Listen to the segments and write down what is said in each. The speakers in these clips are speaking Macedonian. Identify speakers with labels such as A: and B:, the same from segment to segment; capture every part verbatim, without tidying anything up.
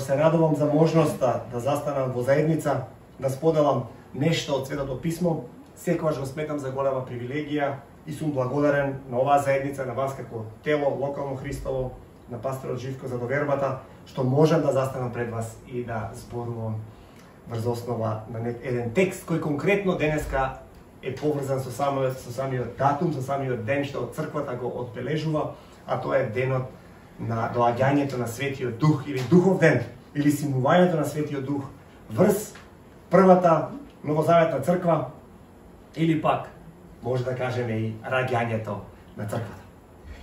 A: Баш се радувам за можноста да застанам во заедница, да споделам нешто од Светото Писмо. Секогаш го сметам за голема привилегија и сум благодарен на оваа заедница, на вас како тело локално Христово, на пасторот Живко за довербата, што можам да застанам пред вас и да зборувам врз основа на еден текст кој конкретно денеска е поврзан со самиот, со самиот датум, со самиот ден што црквата го одбележува, а тоа е денот на доаѓањето на Светиот Дух или Духов ден, или симувањето на Светиот Дух врз првата новозаветна црква, или пак може да кажеме и раѓањето на црквата.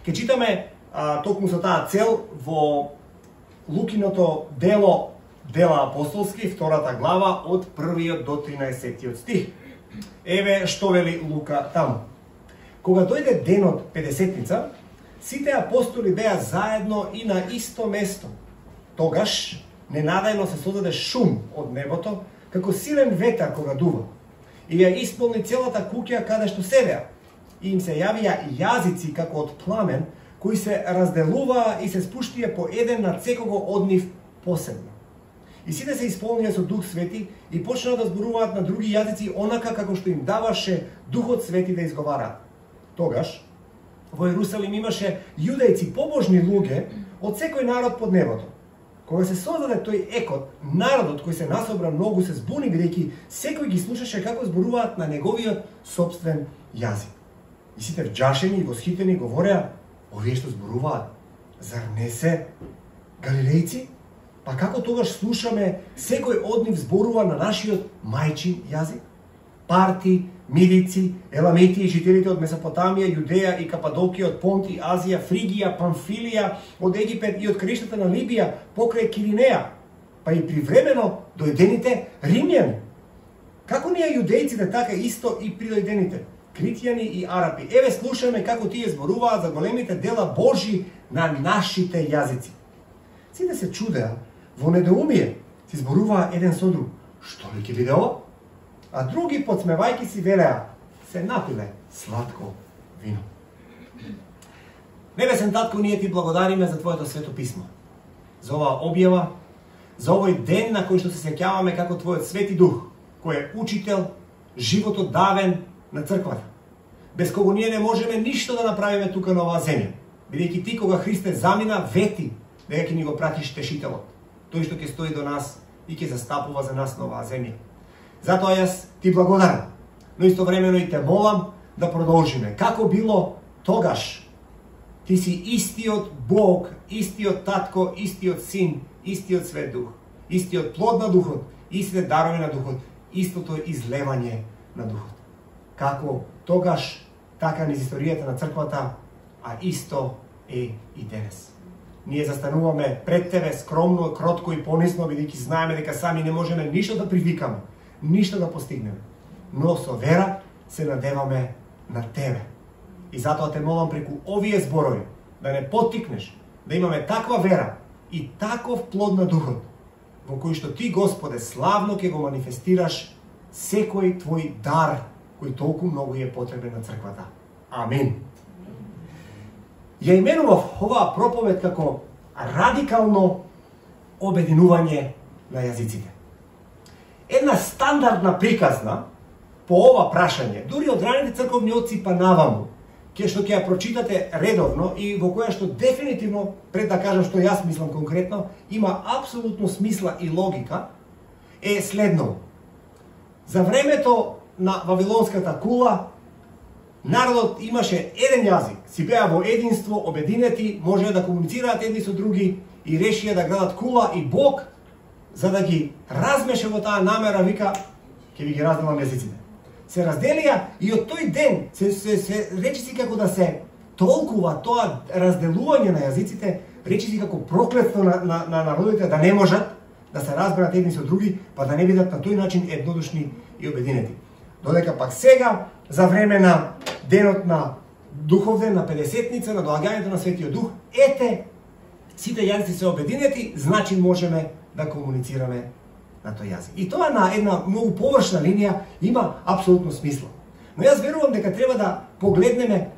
A: Ке читаме а, токму со таа цел во Лукиното дело, дела апостолски, втората глава од првиот до тринаесеттиот стих. Еве што вели Лука таму. Кога дојде денот Педесетница, сите апостоли беа заедно и на исто место. Тогаш ненадејно се создаде шум од небото, како силен ветар кога дува, и ја исполни целата куќа каде што седеа. И им се јавија јазици како од пламен, кои се разделуваа и се спуштија по еден над секого од нив посебно. И сите се исполнија со Дух Свети и почнаа да зборуваат на други јазици онака како што им даваше Духот Свети да изговараат. Тогаш во Ерусалим имаше јудејци побожни луѓе од секој народ под небото. Кога се создаде тој екот, народот кој се насобра многу се збуни, бидејќи секој ги слушаше како зборуваат на неговиот сопствен јазик. И сите вџашени и восхитени говореа: овие што зборуваат, зар не се галилејци? Па како тогаш слушаме секој од нив зборува на нашиот мајчин јазик? Парти, Мидици, Еламити и жителите од Месопотамија, Јудеја и Кападокија, од Понти, Азија, Фригија, Памфилија, од Египет и од краиштата на Либија, покрај Киринеја, па и привремено дојдените римјани. Како ние јудејците, така исто и придојдените, критјани и арапи. Еве слушаме како тие зборуваат за големите дела Божи на нашите јазици. Сите се чудеа, во недоумие си зборуваа еден со друг: што ли ќе биде ова? А други, подсмевајки си, велеа: се напиле сладко вино. Небесен Татко, ние ти благодариме за Твоето Свето Писмо, за оваа објава, за овој ден на кој што се сеќаваме како Твојот Свети Дух, кој е учител, животот давен на црквата, без кого ние не можеме ништо да направиме тука на оваа земја, бидејќи ти кога Христе замина вети дека ќе ни го пратиш Тешителот, тој што ќе стои до нас и ќе застапува за нас на оваа земја. Затоа јас ти благодарам, но истовремено и те молам да продолжиме. Како било тогаш, ти си истиот Бог, истиот Татко, истиот Син, истиот Свет Дух, истиот плод на Духот, истите дарови на Духот, истото излевање на Духот. Како тогаш, така низ историјата на црквата, а исто е и денес. Ние застануваме пред тебе скромно, кротко и понизно, бидејќи знаеме дека сами не можеме ништо да привикаме, ништо да постигнеме, но со вера се надеваме на тебе. И затоа те молам преку овие зборови да не поттикнеш, да имаме таква вера и таков плод на Духот, во кој што ти, Господе, славно ќе го манифестираш секој твој дар кој толку многу е потребен на црквата. Амин. Ја именував оваа проповед како радикално обединување на јазиците. Една стандардна приказна по ова прашање, дури од раните црковни отци па наваму, ке што ќе ја прочитате редовно и во која што дефинитивно, пред да кажам што јас мислам конкретно, има апсолутно смисла и логика, е следно. За времето на Вавилонската кула, народот имаше еден јазик, си беа во единство, обединети, можеа да комуницираат едни со други и решија да градат кула, и Бог, за да ги размеше во таа намера, вика: ќе ви ги разделам јазиците. Се разделија и од тој ден се, се, се речиси како да се толкува тоа разделување на јазиците, речиси како проклетство на, на, на народите да не можат да се разберат едни со други, па да не бидат на тој начин еднодушни и обединети. Додека пак сега, за време на денот на Духов ден, на Педесетница, на доаѓањето на Светиот Дух, ете, сите јазици се обединети, значи можеме да комуницираме на тој јазик. И тоа на една многу површна линија има апсолутно смисла. Но јас верувам дека треба да погледнеме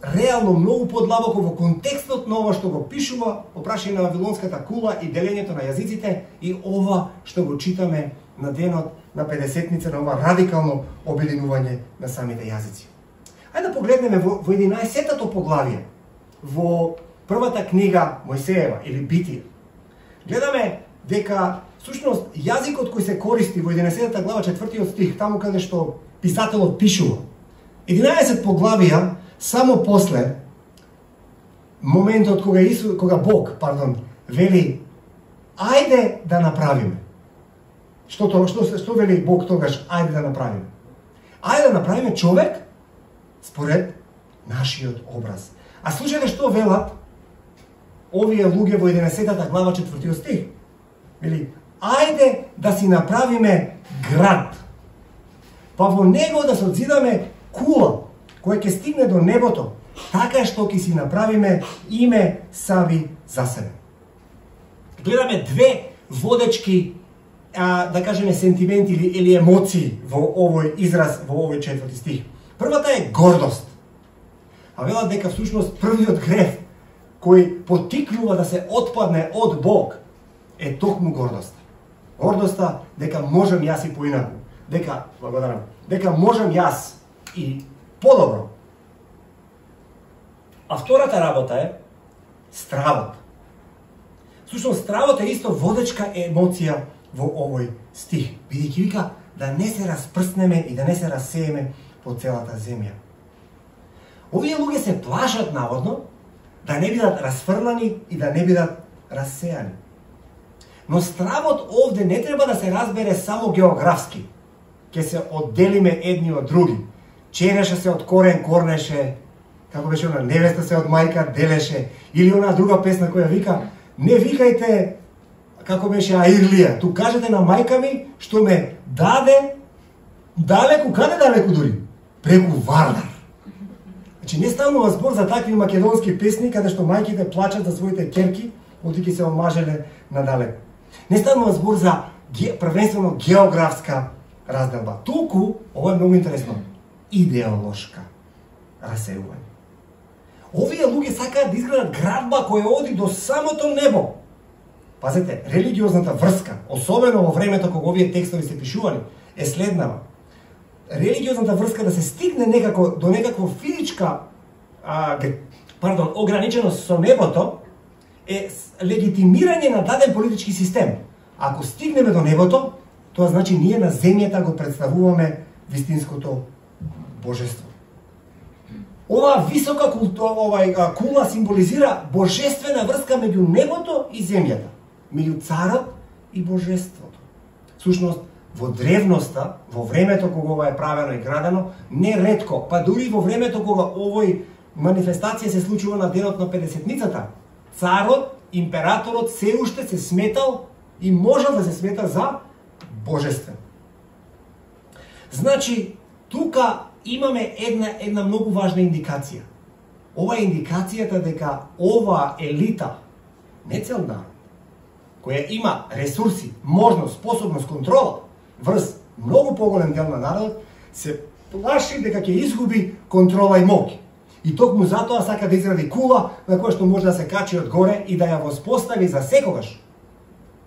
A: реално многу подлабоко во контекстот на ова што го пишува по прашање на Вавилонската кула и делењето на јазиците и ова што го читаме на денот на Педесетница, на ова радикално обединување на самите јазици. Ајде да погледнеме во, во единаесеттото поглавие, во првата книга Мојсеева или Битие. Гледаме дека всушност јазикот кој се користи во единаесеттата глава четвртиот стих, таму каде што писателот пишува, единаесет поглавија само после моментот кога Исус, кога Бог, пардон, вели ајде да направиме. Што тоа, што што вели Бог тогаш ајде да направиме? Ајде да направиме човек според нашиот образ. А слушајте што велат овие луѓе во единаесеттата глава четвртиот стих. Вели ајде да си направиме град, па во него да се одзидаме кула која ќе стигне до небото, така што ќе си направиме име саби за себе. Гледаме две водечки, а, да кажеме, сентименти или, или емоции во овој израз, во овој четврти стих. Првата е гордост. А велат дека всушност првиот грев кој потикнува да се отпадне од Бог е токму гордоста. Гордоста дека можам јас и поинаку, дека, благодарам, дека можам јас и подобро. А втората работа е стравот. Всушност стравот е исто водечка емоција во овој стих, бидејќи вика да не се распрснеме и да не се расееме по целата земја. Овие луѓе се плашат наводно да не бидат расфрлани и да не бидат рассејани. Но стравот овде не треба да се разбере само географски. Ке се одделиме едни од други. Череше се од корен корнеше, како беше она, невеста се од мајка делеше, или она друга песна која вика, не викајте, како беше Аирлија, ту кажете на мајка ми што ме даде далеку, каде далеку дури? Преку Вардар. Значи не станува збор за такви македонски песни каде што мајките плачат за своите ќерки, одики се омажеле надалеку. Не станува збор за ге, првенствено географска разделба. Туку, ова е многу интересно, идеолошка расеување. Овие луѓе сакаат да изградат градба која оди до самото небо. Пазете, религиозната врска, особено во времето кога овие текстови се пишувани, е следнава. Религиозната врска да се стигне некако до некаква физичка а, пардон, ограниченост со небото е легитимирање на даден политички систем. Ако стигнеме до небото, тоа значи ние на земјата го представуваме вистинското божество. Ова висока култура, овај кула символизира божествена врска меѓу небото и земјата, меѓу царот и божеството. Всушност, во древноста, во времето кога ова е правено и градено, не ретко, па дури во времето кога овој манифестација се случува на денот на Педесетницата, царот, императорот се уште се сметал и можел да се смета за божествен. Значи, тука имаме една една многу важна индикација. Ова е индикацијата дека ова елита, не цел народ, која има ресурси, можност, способност, контрола врз многу поголем дел на народот, се плаши дека ќе изгуби контрола и моќ. И токму затоа сака да изгради кула на која што може да се качи од горе и да ја воспостави за секогаш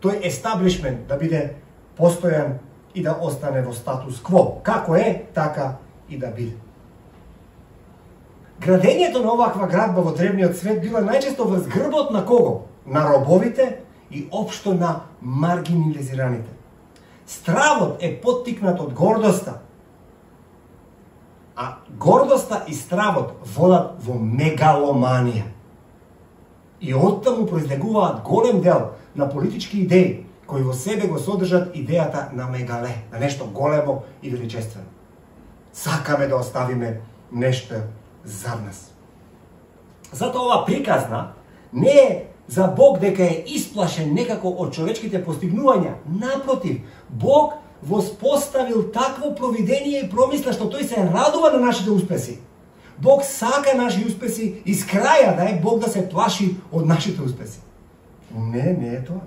A: тој естаблишмент да биде постојан и да остане во статус кво. Како е, така и да биде. Градењето на оваква градба во древниот свет била најчесто врз грбот на кого? На робовите и општо на маргинализираните. Стравот е поттикнат од гордоста, а гордоста и стравот водат во мегаломанија. И оттаму произлегуваат голем дел на политички идеи кои во себе го содржат идејата на мегале, на нешто големо и величествено. Сакаме да оставиме нешто за нас. Затоа ова приказна не е за Бог дека е исплашен некако од човечките постигнувања. Напротив, Бог воспоставил такво провидение и промисла што тој се радува на нашите успеси. Бог сака наши успеси и скраја да е Бог да се плаши од нашите успеси. Не, не е тоа.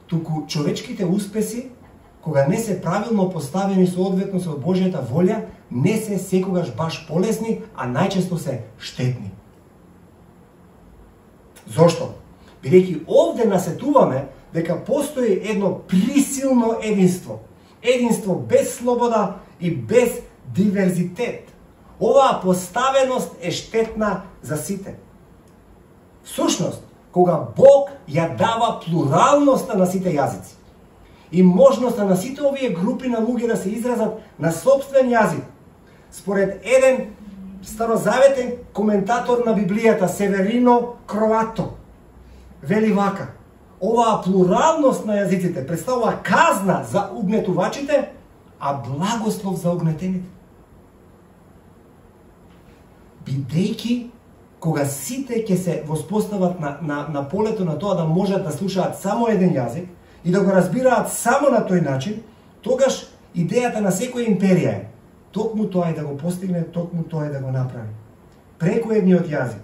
A: Туку човечките успеси, кога не се правилно поставени соодветно со Божјата волја, не се секогаш баш полезни, а најчесто се штетни. Зошто? Бидејќи овде насетуваме дека постои едно присилно единство. Единство без слобода и без диверзитет. Оваа поставеност е штетна за сите. Всушност, кога Бог ја дава плуралноста на сите јазици и можноста на сите овие групи на луѓе да се изразат на собствен јазик, според еден старозаветен коментатор на Библијата, Северино Кроато, вели вака: оваа плуралност на јазиците представува казна за угнетувачите, а благослов за угнетените. Бидејќи кога сите ќе се воспостават на, на, на полето на тоа да можат да слушаат само еден јазик и да го разбираат само на тој начин, тогаш идејата на секоја империја е токму тоа е да го постигне, токму тоа е да го направи. Преку едниот јазик.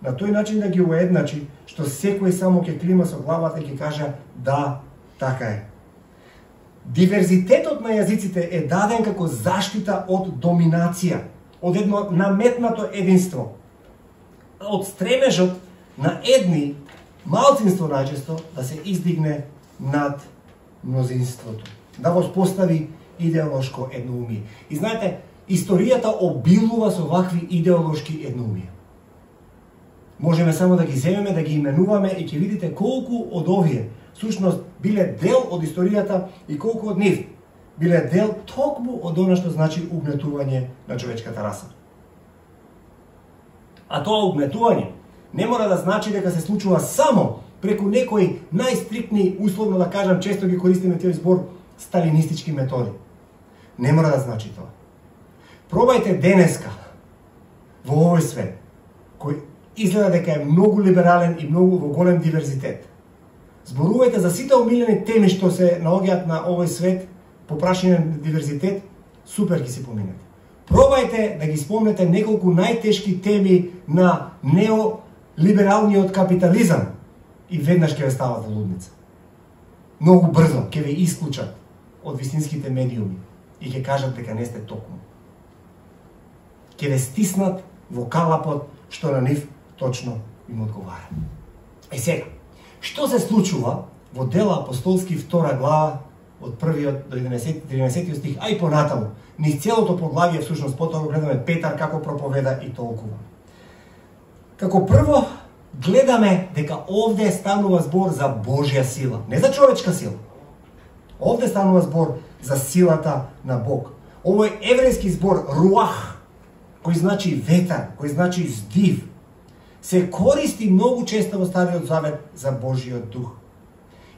A: На тој начин да ги уедначи, што секој само ќе клима со главата и ќе каже да, така е. Диверзитетот на јазиците е даден како заштита од доминација, од едно наметнато единство, од стремежот на едни, малцинство најчесто, да се издигне над мнозинството, да воспостави идеолошко едноумие. И знаете, историјата обилува со вакви идеолошки едноумија. Можеме само да ги земеме, да ги именуваме и ќе видите колку од овие всушност биле дел од историјата и колку од нив биле дел токму од она што значи угнетување на човечката раса. А тоа угнетување не мора да значи дека се случува само преку некои најстриктни, условно да кажам, често ги користиме тој збор, сталинистички методи. Не мора да значи тоа. Пробајте денеска во овој свет, кој изгледа дека е многу либерален и многу во голем диверзитет. Зборувајте за сите омилени теми што се наоѓаат на овој свет по прашање на диверзитет, супер ги си поминете. Пробајте да ги спомнете неколку најтешки теми на неолибералниот капитализам и веднаш ќе ве стават во лудница. Многу брзо ќе ве исклучат од вистинските медиуми и ќе кажат дека не сте токму. Ќе ве стиснат во калапот што на нив точно им одговара. Е сега, што се случува во Дела апостолски втора глава од првиот до единаесеттиот стих, а и понатаму, низ целото поглавие всушност потоа го гледаме Петар како проповеда и толкува. Како прво гледаме дека овде станува збор за Божја сила, не за човечка сила. Овде станува збор за силата на Бог. Овој еврејски збор руах, кој значи ветар, кој значи здив, се користи многу често во Стариот Завет за Божиот дух.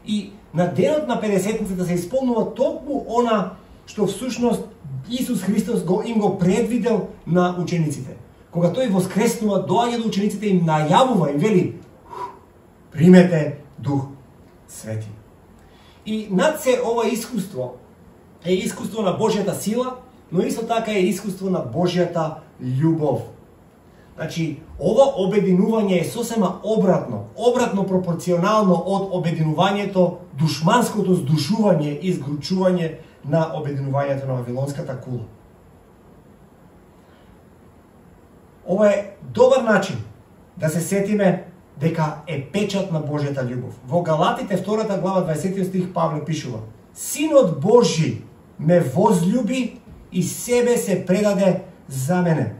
A: И на денот на Педесетницата се исполнува токму она што всушност Исус Христос го им го предвидел на учениците. Кога тој воскреснува, доаѓа до учениците и им најавува, им вели: примете Дух Свети. И над се ова искуство е искуство на Божјата сила, но исто така е искуство на Божјата љубов. Значи, ова обединување е сосема обратно, обратно пропорционално од обединувањето, душманското здушување и изгручување на обединувањето на Вавилонската кула. Ова е добар начин да се сетиме дека е печат на Божјата љубов. Во Галатите втората глава дваесеттиот стих Павле пишува: Синот Божји ме возлюби и себе се предаде за мене.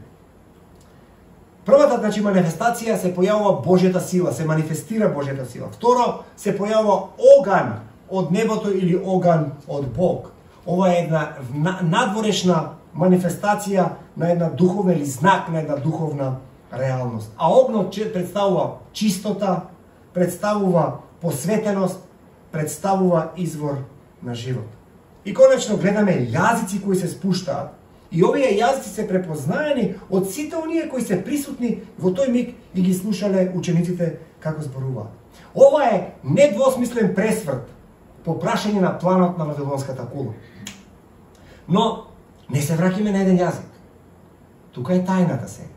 A: Првата, значи, манифестација се појавува Божјата сила, се манифестира Божјата сила. Второ, се појавува оган од небото или оган од Бог. Ова е една надворешна манифестација на една духовна или знак на една духовна реалност. А огнот представува чистота, представува посветеност, представува извор на живот. И конечно гледаме јазици кои се спуштаат. И овие јазици се препознаени од сите оние кои се присутни во тој миг и ги слушале учениците како зборуваат. Ова е недвосмислен пресврт по прашање на планот на Вавилонската кула. Но не се враќаме на еден јазик. Тука е тајната сега.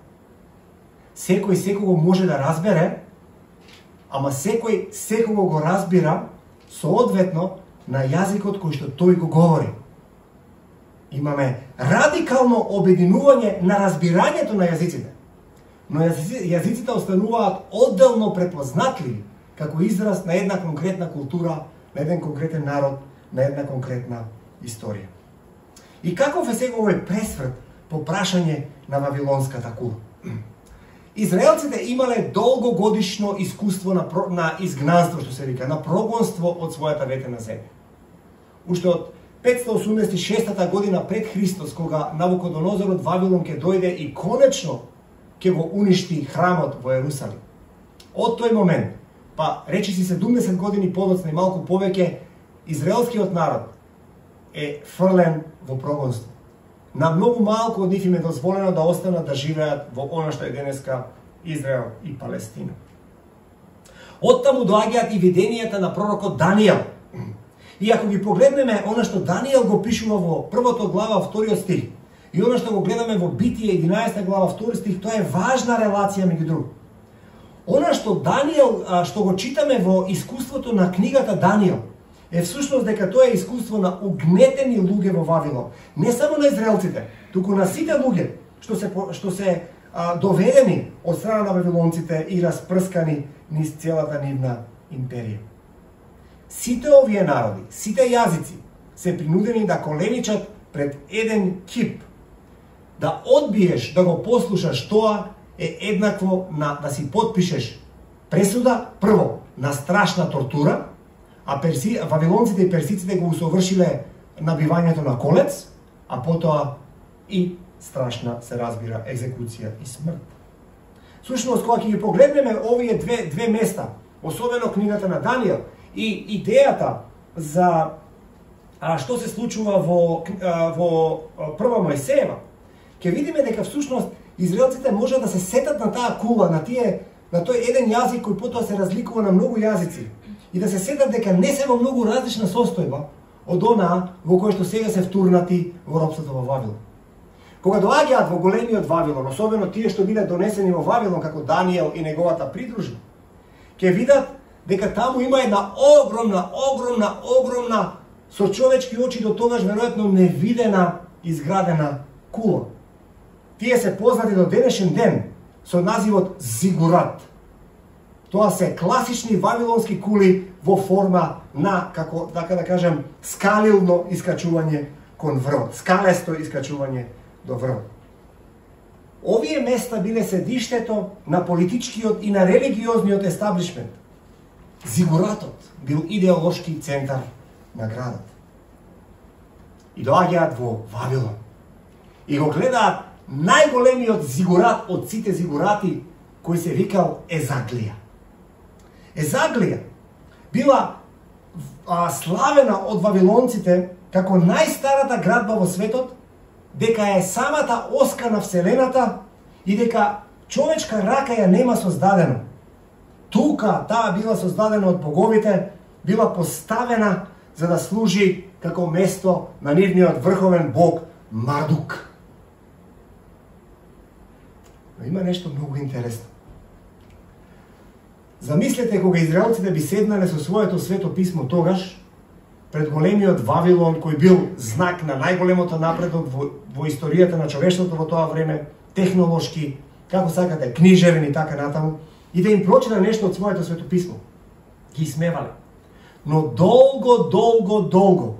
A: Секој секого може да разбере, ама секој секого го разбира соодветно на јазикот кој што тој го говори. Имаме радикално обединување на разбирањето на јазиците. Но јазиците остануваат одделно препознатливи како израз на една конкретна култура, на еден конкретен народ, на една конкретна историја. И каков е сега овој пресврт по прашање на вавилонската кула? Израелците имале долгогодишно искуство на, на изгнанство, што се вика, на прогонство од својата ветена земја. Уште од петстотини осумдесет и шеста година пред Христос, кога Навуходонозор од Вавилон ќе дојде и конечно ќе го уништи храмот во Ерусалим. Од тој момент, па речиси седумдесет години подоцна и малку повеќе, израелскиот народ е фрлен во прогонство. На многу малку од нив им е дозволено да останат да живеат во она што е денеска Израел и Палестина. Оттаму доаѓаат и виденијата на пророкот Даниел. И ако ги погледнеме она што Даниел го пишува во првото глава, вториот стих, и она што го гледаме во Битие единаесета глава, втори стих, тоа е важна релација меѓу друг. Она што Даниел, што го читаме во искуството на книгата Даниел, е всушност дека тоа е искуство на угнетени луѓе во Вавилон. Не само на израелците, туку на сите луѓе што се, што се а, доведени од страна на вавилонците и распрскани низ целата нивна империја. Сите овие народи, сите јазици се принудени да коленичат пред еден кип. Да одбиеш да го послушаш тоа е еднакво на да си подпишеш пресуда, прво, на страшна тортура, а перси, вавилонците и персиците го усовршиле набивањето на колец, а потоа и страшна, се разбира, екзекуција и смрт. Сушност, кога ќе ги погледнеме овие две, две места, особено книгата на Даниел, и идејата за а, што се случува во, а, во прва Мојсеева, ќе видиме дека всушност израелците може да се сетат на таа кула, на тие, на тој еден јазик кој потоа се разликува на многу јазици, и да се сетат дека не се во многу различна состојба од онаа во која што сега се втурнати во робството во Вавилон. Кога доаѓаат во големиот Вавилон, особено тие што биле донесени во Вавилон како Даниел и неговата придружба, ќе видат дека таму има една огромна, огромна, огромна со човечки очи до тогаш веројатно невидена изградена кула. Тие се познати до денешен ден со називот зигурат. Тоа се класични вавилонски кули во форма на, како така да кажем, скалилно искачување кон врвот, скалесто искачување до врвот. Овие места биле седиштето на политичкиот и на религиозниот естаблишмент. Зигуратот бил идеолошки центар на градот. И доаѓаат во Вавилон. И го гледаат најголемиот зигурат од сите зигурати, кој се викал Езаглија. Езаглија била а, славена од вавилонците како најстарата градба во светот, дека е самата оска на Вселената и дека човечка рака ја нема создадено. Тука таа била создадена од боговите, била поставена за да служи како место на нивниот врховен бог Мардук. Но има нешто многу интересно. Замислете кога израелците би седнале со своето свето писмо тогаш, пред големиот Вавилон, кој бил знак на најголемото напредок во, во историјата на човештвото во тоа време, технолошки, како сакате, книжевен и така натаму, и да им прочита нешто од своето свето писмо. Ги смевале. Но долго, долго, долго,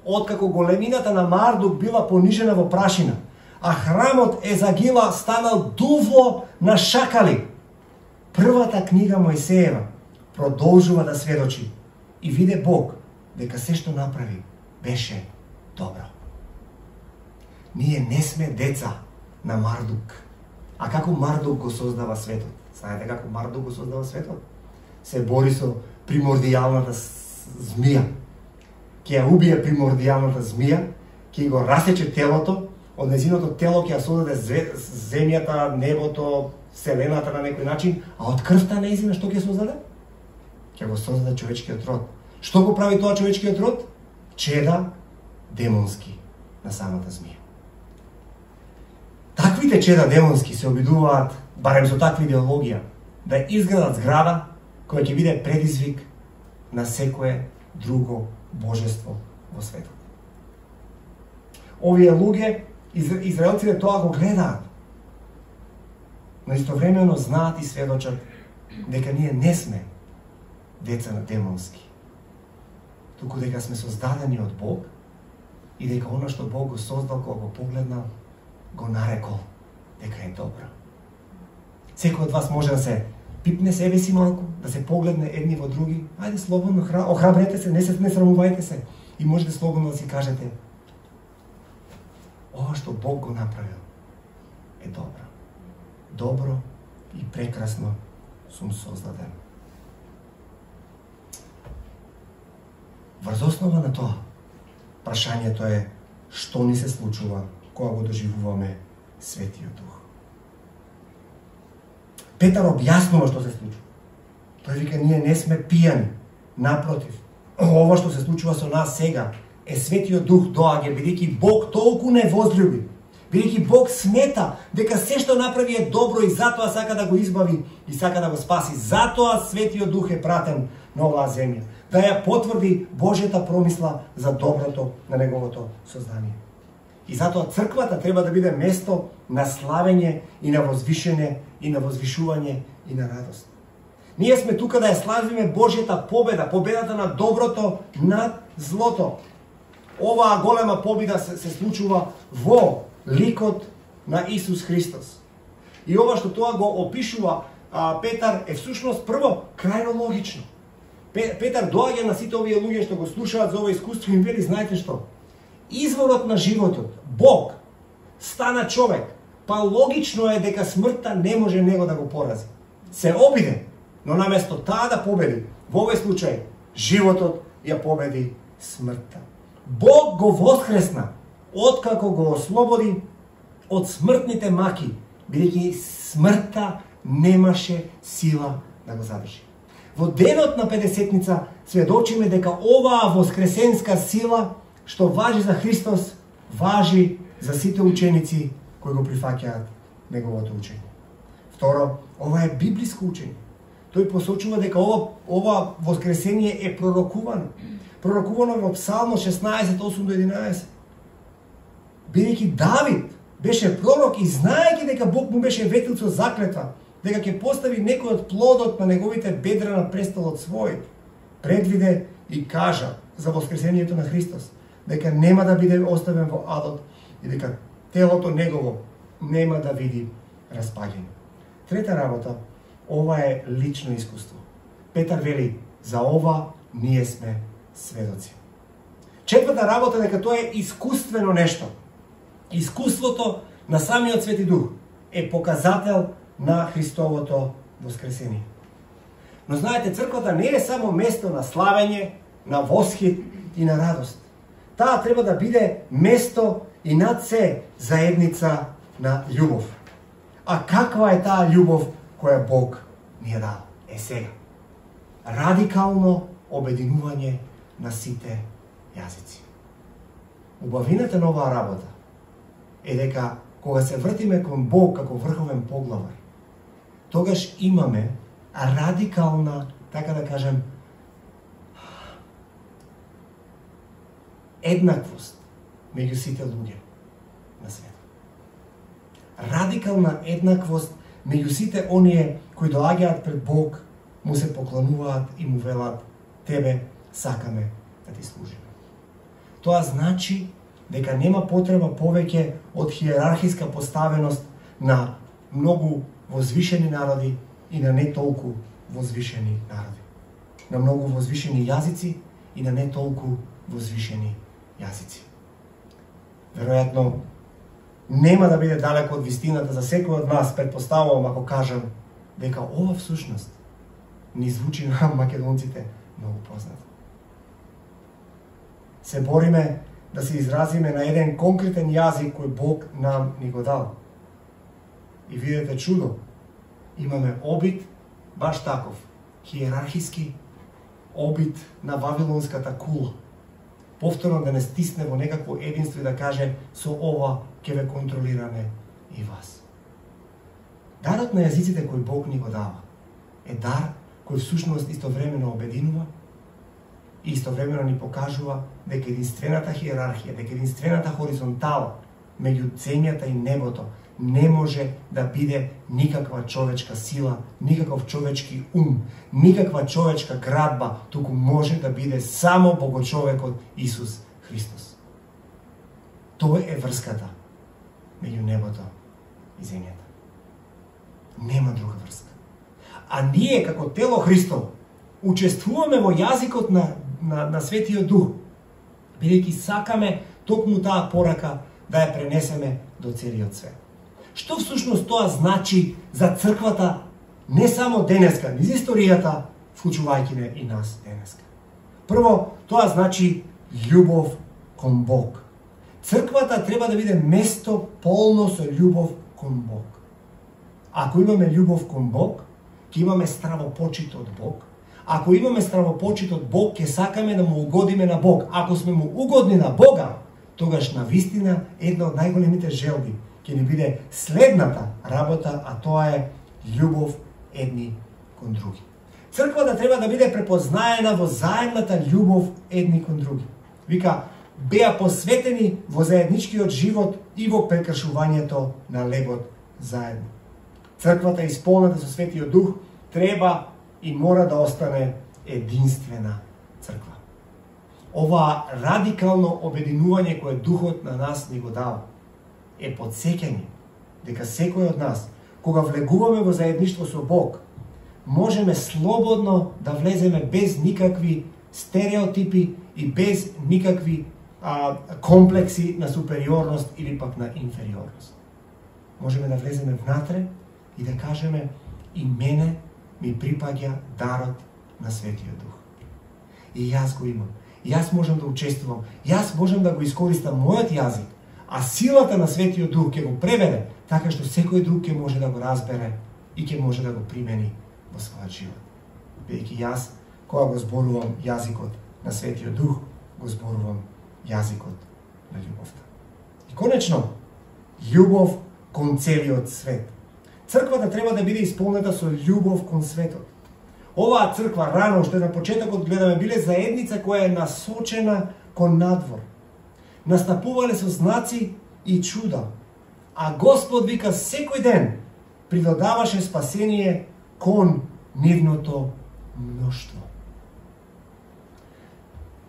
A: откако големината на Мардук била понижена во прашина, а храмот Езагила станал дувло на шакали, првата книга Мојсеева продолжува да сведочи и виде Бог дека се што направи беше добро. Ние не сме деца на Мардук. А како Мардук го создава светот? Знаете како Мардук го создава светот? Се бори со примордијалната змија. Ќе ја убие примордијалната змија, ќе го расече телото, од незиното тело ќе ја создаде земјата, небото, вселената на некој начин, а од крвта нејзина што ќе создаде? Ќе го создаде човечкиот род. Што го прави тоа човечкиот род? Чеда демонски на самата змија. Таквите чеда демонски се обидуваат, барем со таква идеологија, да изградат зграда која ќе биде предизвик на секое друго божество во светот. овие луѓе, израелците тоа го гледаат. Но истовремено знаат и сведочат дека ние не сме деца на демонски, туку дека сме создадени од Бог и дека она што Бог го создал кога го погледнал, го нарекол дека е добро. Секој од вас може да се пипне себе си малку, да се погледне едни во други. Ајде слободно, охрабрете се, не се не срамувајте се и можете слободно да си кажете: ова што Бог го направил е добро. Добро и прекрасно сум создаден. Врз основа на тоа, прашањето е што ни се случува кога го доживуваме Светиот Дух. Петар објаснува што се случува. Тој вика, ние не сме пијани, напротив. Ова што се случува со нас сега е Светиот Дух доаѓа, бидејќи Бог толку не возлюби, бидејќи Бог смета дека се што направи е добро и затоа сака да го избави и сака да го спаси. Затоа Светиот Дух е пратен на оваа земја, да ја потврди Божјата промисла за доброто на неговото создание. И затоа црквата треба да биде место на славење и на возвишење и на возвишување и на радост. Ние сме тука да ја славиме Божјата победа, победата на доброто над злото. Оваа голема победа се, се случува во ликот на Исус Христос. И ова што тоа го опишува а, Петар е всушност прво крајно логично. Петар доаѓа на сите овие луѓе што го слушаат за ова искуство и им вели, знаете што? Изворот на животот, Бог, стана човек, па логично е дека смртта не може него да го порази. Се обиде, но наместо таа да победи, во овој случај, животот ја победи смртта. Бог го воскресна, откако го ослободи од смртните маки, бидејќи смртта немаше сила да го задржи. Во денот на Педесетница сведочиме дека оваа воскресенска сила што важи за Христос, важи за сите ученици кои го прифаќаат неговото учење. Второ, ова е библиско учење. Тој посочува дека ова, ова воскресение е пророкувано. Пророкувано во Псалмо шеснаесет, осум до единаесет. Бидејќи Давид беше пророк и знаејќи дека Бог му беше ветил со заклетва, дека ќе постави некој од плодот на неговите бедра на престолот свој, предвиде и кажа за воскресението на Христос, дека нема да биде оставен во адот и дека телото негово нема да види распаѓање. Трета работа, ова е лично искуство. Петар вели, за ова ние сме сведоци. Четврта работа дека тоа е искуствено нешто. Искуството на самиот Свети Дух е показател на Христовото воскресение. Но знаете, црквата не е само место на славење, на восхит и на радост. Таа треба да биде место и над се заедница на љубов. А каква е таа љубов која Бог ни е дал? Е сега. Радикално обединување на сите јазици. Убавината на оваа работа е дека кога се вртиме кон Бог како врховен поглавар, тогаш имаме радикална, така да кажем, еднаквост меѓу сите луѓе на светот. Радикална еднаквост меѓу сите оние кои доаѓаат пред Бог, му се поклонуваат и му велат: тебе сакаме да ти служиме. Тоа значи дека нема потреба повеќе од хиерархиска поставеност на многу возвишени народи и на не толку возвишени народи. На многу возвишени јазици и на не толку возвишени јазици. Веројатно, нема да биде далеко од вистината за секој од нас, предпоставувам ако кажам дека ова всушност ни звучи на македонците многу познато. Се бориме да се изразиме на еден конкретен јазик кој Бог нам ни го дал. И видете чудо, имаме обид баш таков, хиерархиски обид на вавилонската кула. Повторно да не стисне во некакво единство и да каже: со ова ќе ве контролираме и вас. Дарот на јазиците кој Бог ни го дава е дар кој всушност истовремено обединува и истовремено ни покажува дека единствената хиерархија, дека единствената хоризонтала меѓу земјата и небото не може да биде никаква човечка сила, никаков човечки ум, никаква човечка градба, туку може да биде само Богочовекот Исус Христос. Тоа е врската меѓу небото и земјата. Нема друга врска. А ние, како тело Христово, учествуваме во јазикот на, на, на Светиот Дух, бидејќи сакаме токму таа порака да ја пренесеме до целиот свет. Што всушност тоа значи за црквата не само денеска, низ историјата, вклучувајќи и нас денеска? Прво, тоа значи љубов кон Бог. Црквата треба да биде место полно со љубов кон Бог. Ако имаме љубов кон Бог, ќе имаме стравопочит од Бог. Ако имаме стравопочит од Бог, ќе сакаме да му угодиме на Бог. Ако сме му угодни на Бога, тогаш на вистина една од најголемите желби ќе ни биде следната работа, а тоа е љубов едни кон други. Црквата треба да биде препознаена во заедната љубов едни кон други. Вика, беа посветени во заедничкиот живот и во прекршувањето на лебот заедно. Црквата исполнета со Светиот Дух треба и мора да остане единствена црква. Ова радикално обединување кое Духот на нас ни го дава е подсеќање дека секој од нас, кога влегуваме во заедништво со Бог, можеме слободно да влеземе без никакви стереотипи и без никакви а, комплекси на супериорност или пак на инфериорност. Можеме да влеземе внатре и да кажеме, и мене ми припаѓа дарот на Светиот Дух. И јас го имам. Јас можам да учествувам. Јас можам да го искористам мојот јазик, а силата на Светиот Дух ќе го преведе така што секој друг ќе може да го разбере и ќе може да го примени во својот живот. Бидејќи јас, кога го зборувам јазикот на Светиот Дух, го зборувам јазикот на љубовта. И конечно, љубов кон целиот свет. Црквата треба да биде исполнета со љубов кон светот. Оваа црква рано, уште на почетокот гледаме, биле заедница која е насочена кон надвор. Настапувале со знаци и чуда, а Господ вика секој ден придодаваше спасение кон нивното мноштво.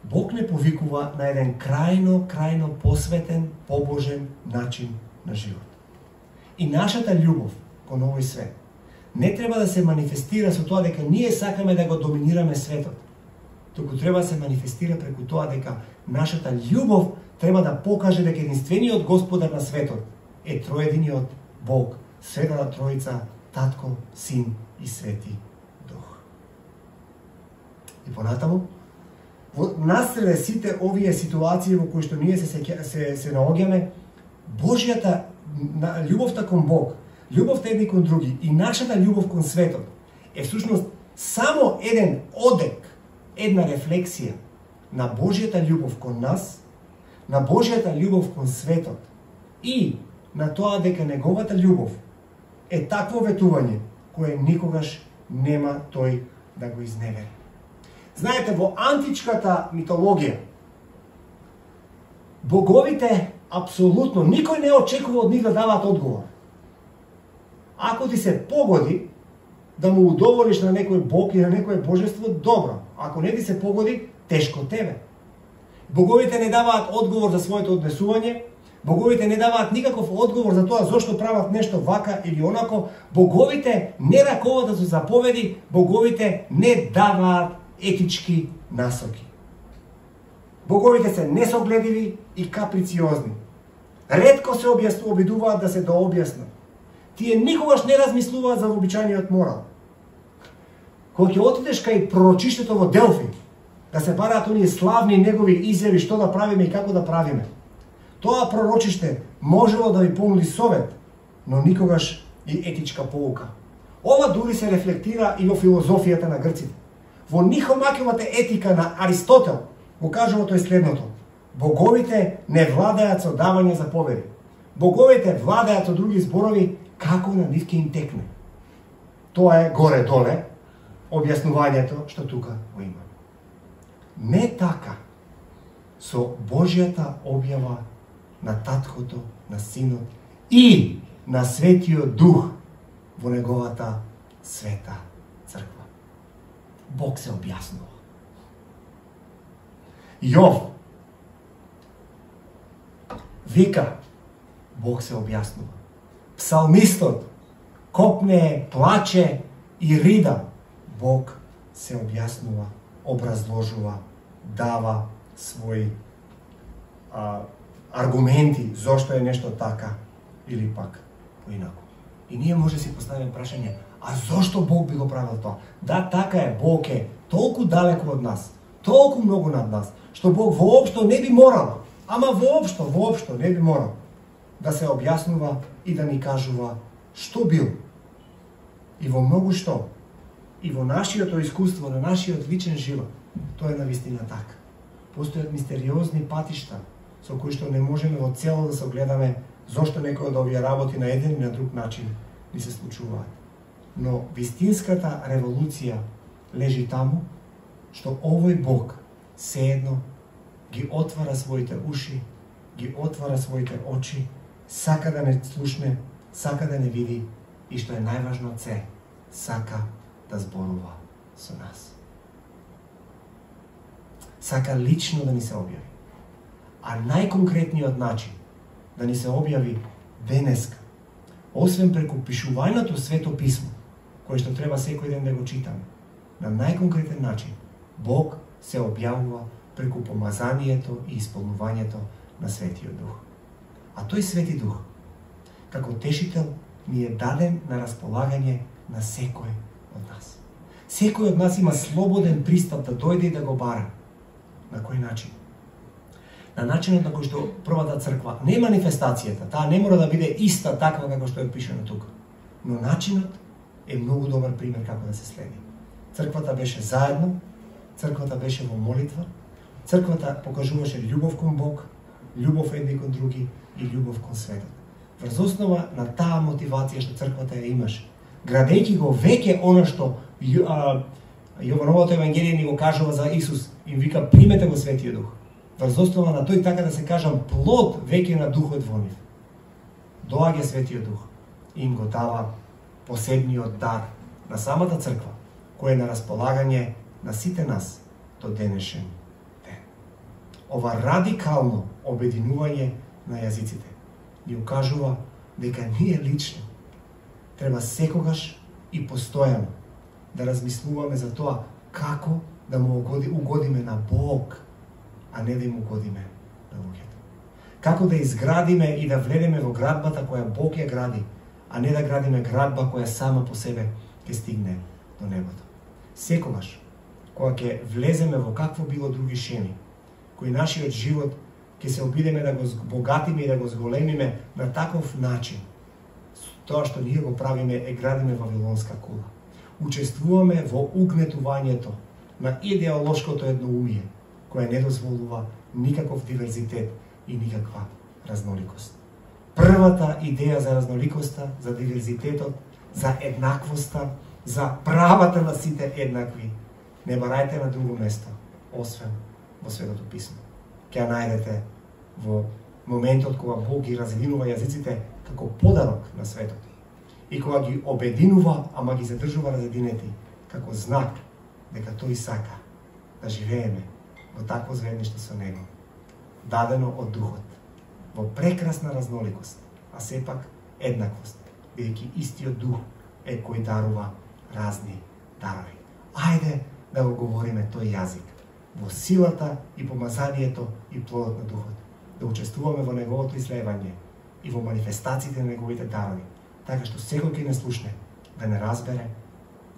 A: Бог не повикува на еден крајно, крајно посветен, побожен начин на живот. И нашата љубов кон овој свет не треба да се манифестира со тоа дека ние сакаме да го доминираме светот, туку треба да се манифестира преку тоа дека нашата љубов треба да покаже дека единствениот Господар на светот е троединиот Бог, Светата Троица, Татко, Син и Свети Дух. И понатаму, во насреде сите овие ситуации во кои што ние се се, се, се наоѓаме, Божјата љубовта кон Бог, љубовта едни кон други и нашата љубов кон светот е всушност само еден одек, една рефлексија на Божјата љубов кон нас, на Божјата љубов кон светот и на тоа дека неговата љубов е такво ветување кое никогаш нема тој да го изневери. Знаете, во античката митологија боговите апсолутно никој не очекува од нив да даваат одговор. Ако ти се погоди да му удоволиш на некој бог и на некој божество, добро. Ако не ти се погоди, тешко тебе. Боговите не даваат одговор за своето однесување, боговите не даваат никаков одговор за тоа зошто прават нешто вака или онако, боговите не раковат со заповеди, боговите не даваат етички насоки. Боговите се несогледиви и каприциозни. Ретко се обидуваат да се дообјаснат. Тие никогаш не размислуваат за вообичајниот морал. Кога ќе отидеш кај пророчиштето во Делфи, да се бараат оние славни негови изјави што да правиме и како да правиме, тоа пророчиште можело да ви понуди совет, но никогаш и етичка поука. Ова дури се рефлектира и во филозофијата на грците. Во Нихомакевата етика на Аристотел го кажува тој следното: боговите не владеат со давање заповеди. Боговите владеат со други зборови како на нив ќе им текне. Тоа е горе-доле објаснувањето што тука го има. Не така. Со Божјата објава на Таткото, на Синот и на Светиот Дух во неговата света црква. Бог се објаснува. Јов вика, Бог се објаснува. Псалмистот копне, плаче и рида. Бог се објаснува, образложува, дава своји а, аргументи зошто е нешто така или пак поинаку. И ние може да си поставиме прашање, а зошто Бог би го правил тоа? Да, така е, Бог е толку далеку од нас, толку многу над нас, што Бог воопшто не би морал, ама воопшто, воопшто не би морал да се објаснува и да ни кажува што бил. И во многу што, и во нашиот искуство, на нашиот личен живот, тоа е навистина така. Постојат мистериозни патишта со кои што не можеме во цело да се огледаме зошто некој од овие работи на еден и на друг начин ни се случуваат. Но вистинската револуција лежи таму што овој Бог сеедно ги отвара своите уши, ги отвара своите очи, сака да не слушне, сака да не види и што е најважно од се, сака да зборува со нас. Сака лично да ни се објави. А најконкретниот начин да ни се објави денеска, освен преку пишувањето Свето Писмо, кое што треба секој ден да го читаме, на најконкретен начин Бог се објавува преку помазанието и исполнувањето на Светиот Дух. А тој Свети Дух, како тешител, ни е даден на располагање на секој од нас. Секој од нас има слободен пристап да дојде и да го бара. На кој начин? На начинот на кој што првата црква, не манифестацијата, таа не мора да биде иста таква како што е пишано тука, но начинот е многу добар пример како да се следи. Црквата беше заедно, црквата беше во молитва, црквата покажуваше љубов кон Бог, љубов едни кон други и љубов кон светот. Врз основа на таа мотивација што црквата ја имаше, градејќи го веќе она што Јовановото евангелие ни го кажува за Исус, им вика примете го Светиот Дух. Врз основа на тој, така да се кажам, плод веќе на Духот во нив. Доаѓа Светиот Дух и им го дава посебниот дар на самата црква, кој е на располагање на сите нас до денешен ден. Ова радикално обединување на јазиците ни укажува дека ние лично треба секогаш и постојано да размислуваме за тоа како да му угодиме на Бог, а не да им угодиме на луѓето. Како да изградиме и да вледеме во градбата која Бог ја гради, а не да градиме градба која сама по себе ќе стигне до небото. Секогаш, кога ќе влеземе во какво било други шеми, кој нашиот живот ќе се обидеме да го богатиме и да го зголемиме на таков начин, тоа што ние го правиме е градиме вавилонска кула. Учествуваме во угнетувањето на идеолошкото едноумие, која не дозволува никаков диверзитет и никаква разноликост. Првата идеја за разноликоста, за диверзитетот, за еднаквоста, за правата на сите еднакви, не барајте на друго место, освен во Светото Писмо. Ќе ја најдете во моментот кога Бог ги разединува јазиците како подарок на светот и кога ги обединува, ама ги задржува разединети како знак дека тој сака да живееме во такво заедништво со Него, дадено од Духот, во прекрасна разноликост, а сепак еднаквост, бидејќи истиот Дух е кој дарува разни дарови. Ајде да го говориме тој јазик во силата и помазанието и плодот на Духот, да учествуваме во неговото ислевање и во манифестациите на неговите дарови, така што секој ќе не слушне, да не разбере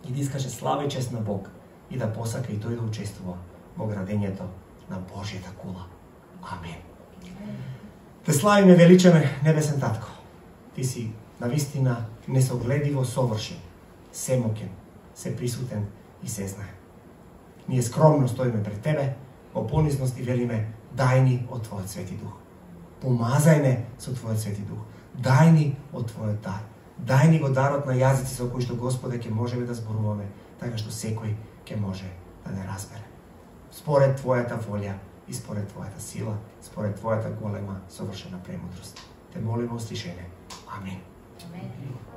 A: и да искаже слава и чест на Бог и да посака и тој да учествува во градењето на Божјата кула. Амен. Те славиме, величаме, небесен Татко. Ти си навистина несогледиво совршен, семоќен, сеприсутен и сезнаен. Ние скромно стоиме пред Тебе, во понизност и велиме, дај ни од Твојот Свети Дух. Помазај не со Твојот Свети Дух. Дај ни од Твојот дар. Дај ни го дарот на јазици со кои што, Господе, ќе можеме да зборуваме, така што секој ќе може да не разбере. според Твојата волја и според Твојата сила, според Твојата голема совршена премудрост. Те молиме, услишене. Амин.
B: Amen.